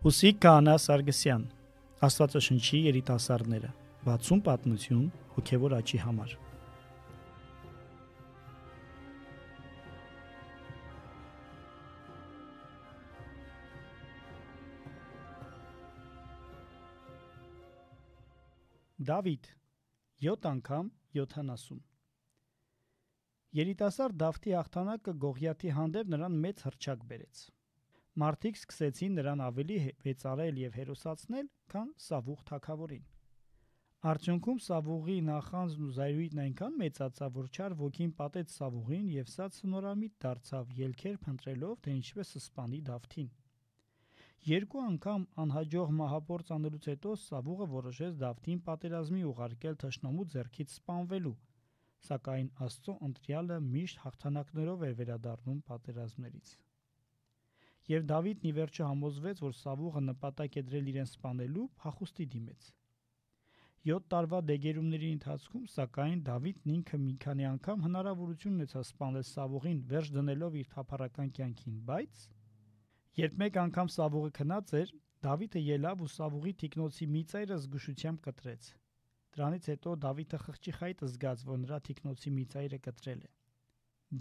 Ուսիկ Քահանա Սարգսյան, Աստվածաշնչի երիտասարդները, 60 պատմություն հոգևոր աճի համար։ Դավիթ 7 անգամ 70։ Երիտասարդ Դավթի հաղթանակը Գողիաթի հանդեպ նրան մեծ հռչակ բերեց։ Մարդիկ սկսեցին նրան ավելի վեցարել և հերոսացնել, քան Սավուղ թագավորին։ Արդյունքում Սավուղի նախանձն ու զայրույթն այնքան մեծացավ, որ չար ոգին պատեց Սավուղին և սա ցնորամիտ դարձավ, ելքեր փնտրելով, թե ինչպես սպանի Դավթին։ Երկու անգամ անհաջող մահափորձ անելուց հետո Սավուղը որոշեց Դավթին պատերազմի ուղարկել թշնամու ձեռքից սպանվելու, սակայն Աստծո ընտրյալը միշտ հաղթանակներով էր վերադառնում պատերազմներից։ Եվ Դավիթն ի վերջո համոզվեց, որ Սավուղը նպատակ է դրել իրեն սպանելու, փախուստի դիմեց։ 7 տարվա դեգերումների ընթացքում, սակայն, Դավիթն ինքը մի քանի անգամ հնարավորություն ունեցավ սպանել Սավուղին, վերջ դնելով իր թափառական կյանքին, բայց երբ մեկ անգամ Սավուղը քնած էր, Դավիթը ելավ ու Սավուղի թիկնոցի մի ծայրը զգուշությամբ կտրեց։ Դրանից հետո Դավիթը խղճի խայտը զգաց, որ նրա թիկնոցի մի ծայրը կտրել է։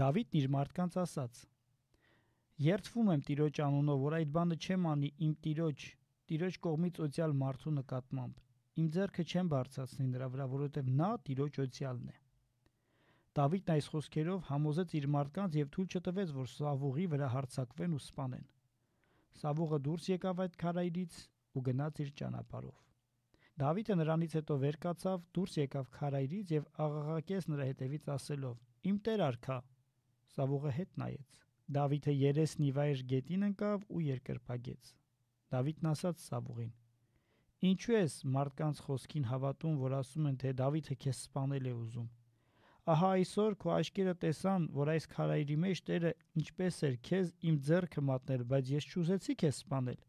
Դավիթն իր մարդկանց ասաց. «Երդվում եմ Տիրոջ անունով, որ այդ բանը չեմ անի իմ Տիրոջ կողմից օծյալ մարդու նկատմամբ։ Իմ ձեռքը չեմ բարձրացնի նրա վրա, որովհետև նա Տիրոջ օծյալն է»։ Դավիթն այս խոսքերով համոզեց իր մարդկանց և թույլ չտվեց, որ Սավուղի վրա հարձակվեն ու սպանեն։ Սավուղը դուրս եկավ այդ քարայրից ու գնաց իր ճանապարհով։ Դավիթը նրանից հետո վեր կացավ, դուրս եկավ քարայրից և աղաղակեց նրա հետևից ասելով. «Իմ տեր արքա»։ Սավուղը հետ նայեց։ Դավիթը երեսն ի վայր գետին ընկավ ու երկրպագեց։ Դավիթն ասաց Սավուղին. «Ինչու ես մարդկանց խոսքին հավատում, որ ասում են, թե Դավիթը քեզ սպանել է ուզում։ Ահա այսօր քո աչքերը տեսան, որ այս քարայրի մեջ Տերը ինչպես էր քեզ իմ ձեռքը մատնել, բայց ես չուզեցի քեզ սպանել։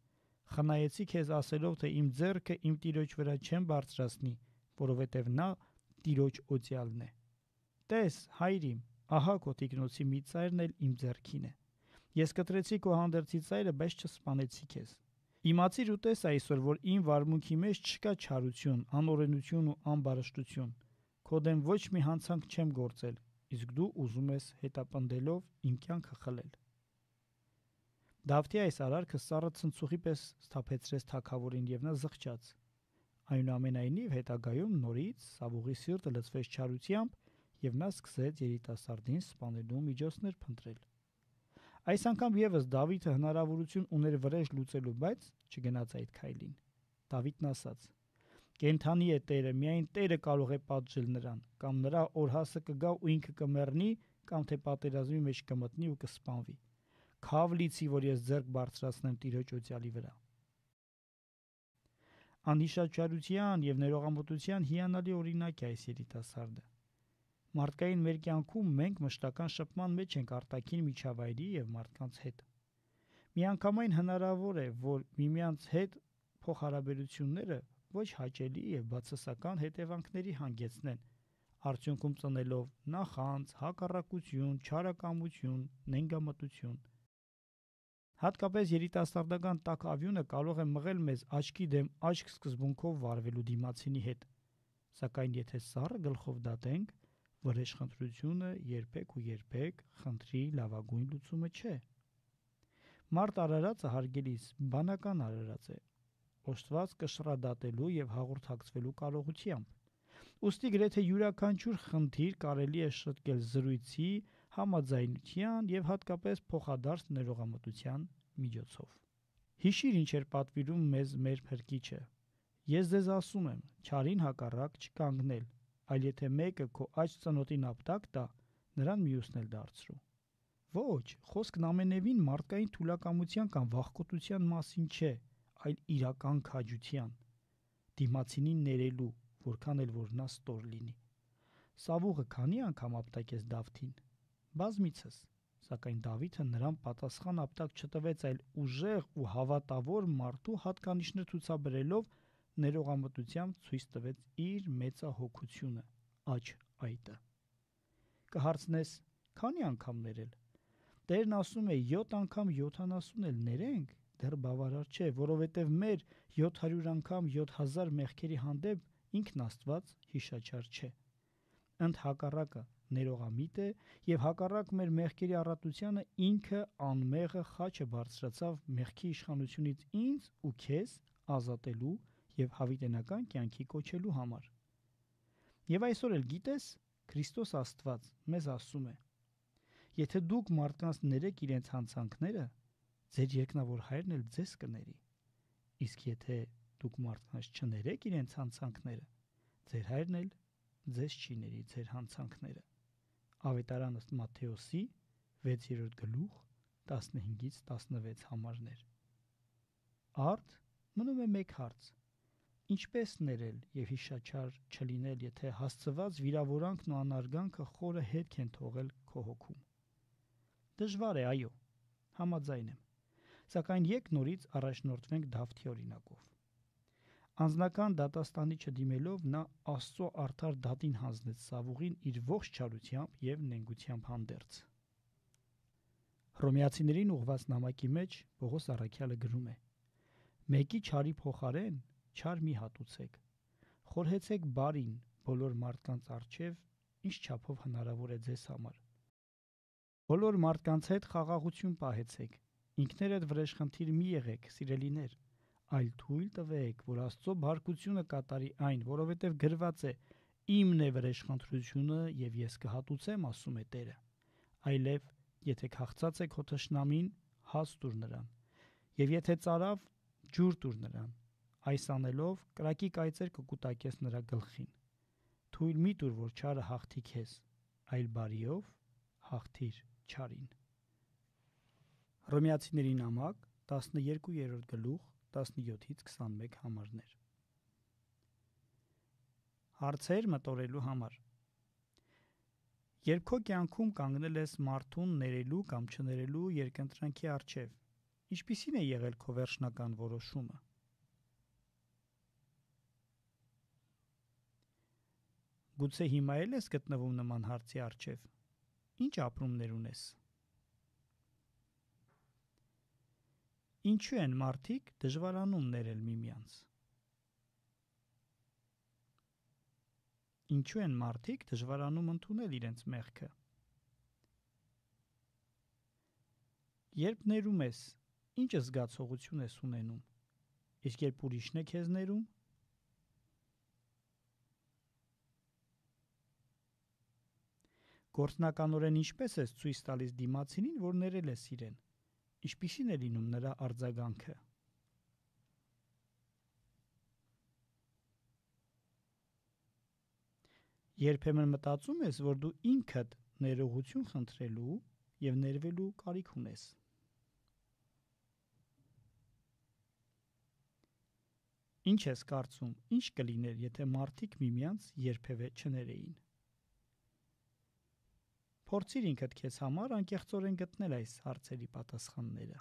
Խնայեցի քեզ ասելով, թե իմ ձեռքը իմ Տիրոջ վրա չեմ բարձրացնի, որովհետև նա Տիրոջ օծյալն է։ Տես, հայր իմ, ահա քո թիկնոցի մի ծայրն էլ իմ ձեռքին է։ Ես կտրեցի քո հանդերձի ծայրը, բայց չսպանեցի քեզ։ Իմացիր ու տես այսօր, որ իմ վարմունքի մեջ չկա չարություն, անօրենություն ու ամբարշտություն։ Քո դեմ ոչ մի հանցանք չեմ գործել, իսկ դու ուզում ես հետապնդելով իմ կյանքը խլել»։ Դավթի այս արարքը սառը ցնցուղի պես սթափեցրեց թագավորին և նա զղջաց։ Այնուամենայնիվ հետագայում նորից Սավուղի սիրտը լցվեց չարությամբ և նա սկսեց երիտասարդին սպանելու միջոցներ փնտրել։ Այս անգամ ևս Դավիթը հնարավորություն ուներ վրեժ լուծելու, բայց չգնաց այդ քայլին։ Դավիթն ասաց. «Կենդանի է Տերը, միայն Տերը կարող է պատժել նրան, կամ նրա օրհասը կգա ու ինքը կմեռնի, կամ թե պատերազմի մեջ կմտնի ու կսպանվի։ Քավ լիցի, որ ես ձեռք բարձրացնեմ Տիրոջ օծյալի վրա»։ Անհիշատ չարության և ներողամտության հիանալի օրինակ է այս երիտասարդը։ Մարդկային մեր կյանքում մենք մշտական շփման մեջ ենք արտաքին միջավայրի և մարդկանց հետ։ Միանգամայն հնարավոր է, որ միմյանց հետ փոխհարաբերությունները ոչ հաճելի և բացասական հետևանքների հանգեցնեն, արդյունքում ծնելով նախանձ, հակառակություն, չարակամություն, նենգամտություն։ Հատկապես երիտասարդական տաք ավյունը կարող է մղել մեզ աչքի դեմ աչք սկզբունքով վարվելու դիմացինի հետ, սակայն եթե սառը գլխով դատենք, վրեժխնդրությունը երբեք ու երբեք խնդրի լավագույն լուծումը չէ։ Մարդ արարածը հարգելիս բանական արարած է, օժտված կշռադատելու և հաղորդակցվելու կարողությամբ։ Ուստի գրեթե յուրաքանչյուր խնդիր կարելի է շտկել զրույցի, համաձայնության և հատկապես փոխադարձ ներողամտության միջոցով։ Հիշիր, ինչ էր պատվիրում մեզ մեր Փրկիչը. «Ես ձեզ ասում եմ, չարին հակառակ չկանգնել, այլ եթե մեկը քո աջ ծնոտին ապտակ տա, նրան մյուսն էլ դարձրու»։ Ոչ, խոսքն ամենևին մարդկային թուլակամության կամ վախկոտության մասին չէ, այլ իրական քաջության, դիմացինին ներելու, որքան էլ որ նա ստոր լինի։ Սավուղը քանի անգամ ապտակեց Դավթին։ Բազմիցս, սակայն Դավիթը նրան պատասխան ապտակ չտվեց, այլ ուժեղ ու հավատավոր մարդու հատկանիշներ ցուցաբերելով ներողամտությամբ ցույց տվեց իր մեծահոգությունը՝ աջ այտը։ Կհարցնես՝ քանի՞ անգամ ներել։ Տերն ասում է 7 անգամ 70 էլ ներենք, դեռ բավարար չէ, որովհետև մեր 700 անգամ 7000 մեղքերի հանդեպ ինքն Աստված հիշաչար չէ։ Ընդհակառակը ներողամիտ է եւ հակառակ մեր մեղքերի առատությանը ինքը անմեղը խաչը բարձրացավ մեղքի իշխանությունից ինձ ու քեզ ազատելու եւ հավիտենական կյանքի կոչելու համար։ Եվ այսօր էլ գիտես, Քրիստոս Աստված մեզ ասում է. եթե դուք մարդկանց ներեք իրենց հանցանքները, ձեր երկնավոր Հայրն էլ ձեզ կների։ Իսկ եթե դուք մարդկանց չներեք իրենց հանցանքները, ձեր Հայրն էլ ձեզ չի ների ձեր հանցանքները։ Ավետարան ըստ Մատթեոսի 6-րդ գլուխ 15-ից 16 համարներ։ Արդ մնում է մեկ հարց. ինչպես ներել եւ հիշաչար չլինել, եթե հասցված վիրավորանքն ու անարգանքը խորը հետք են թողել քո հոգում։ Դժվար է, այո, համաձայն եմ, սակայն եք նորից առաջնորդվենք Դավթի օրինակով։ Անձնական դատաստանի չդիմելով նա Աստծո արդար դատին հանձնեց Սավուղին իր ողջ չարությամբ եւ նենգությամբ հանդերձ։ Հռոմեացիներին ուղված նամակի մեջ Պողոս առաքյալը գրում է. «Մեկի չարի փոխարեն չար մի հատուցեք, խորհեցեք բարին բոլոր մարդկանց առջև, ինչ չափով հնարավոր է ձեզ համար։ Բոլոր մարդկանց հետ խաղաղություն պահեցեք, ինքներդ վրեժխնդիր մի եղեք, սիրելիներ, այլ թույլ տվեք, որ Աստծո բարկությունը կատարի այն, որովհետև գրված է. իմն է վրեժխնդրությունը եւ ես կհատուցեմ, ասում է Տերը։ Այլև եթե քաղցած է քո թշնամին, հաց տուր նրան, եւ եթե ծարավ, ջուր տուր նրան, այս անելով կրակի կայծեր կկուտակես նրա գլխին։ Թույլ մի տուր, որ չարը հաղթի քեզ, այլ բարիով հաղթիր չարին»։ Հռոմեացիների նամակ 12-րդ գլուխ 17-ից 21 համարներ։ Հարցեր մտորելու համար։ Երբ քո կյանքում կանգնել ես մարդուն ներելու կամ չներելու երկընտրանքի առջև, ինչպիսին է եղել քո վերջնական որոշումը։ Գուցե հիմա էլ ես գտնվում նման հարցի առջև։ Ինչ ապրումներ ունես։ Ինչու են մարդիկ դժվարանում ներել միմյանց։ Ինչու են մարդիկ դժվարանում ընդունել իրենց մեղքը։ Երբ ներում ես, ինչ զգացողություն ես ունենում։ Իսկ երբ ուրիշն է քեզ ներում։ Գործնականորեն ինչպես ես ցույց տալիս դիմացինին, որ ներել ես իրեն։ Ինչպիսին է լինում նրա արձագանքը։ Երբեմն մտածում ես, որ դու ինքդ ներողություն խնդրելու եւ ներվելու կարիք ունես։ Ինչ ես կարծում, ինչ կլիներ, եթե մարդիկ միմյանց երբևէ չներեին։ Փորձիր ինքդ քեզ համար անկեղծորեն գտնել այս հարցերի պատասխանները։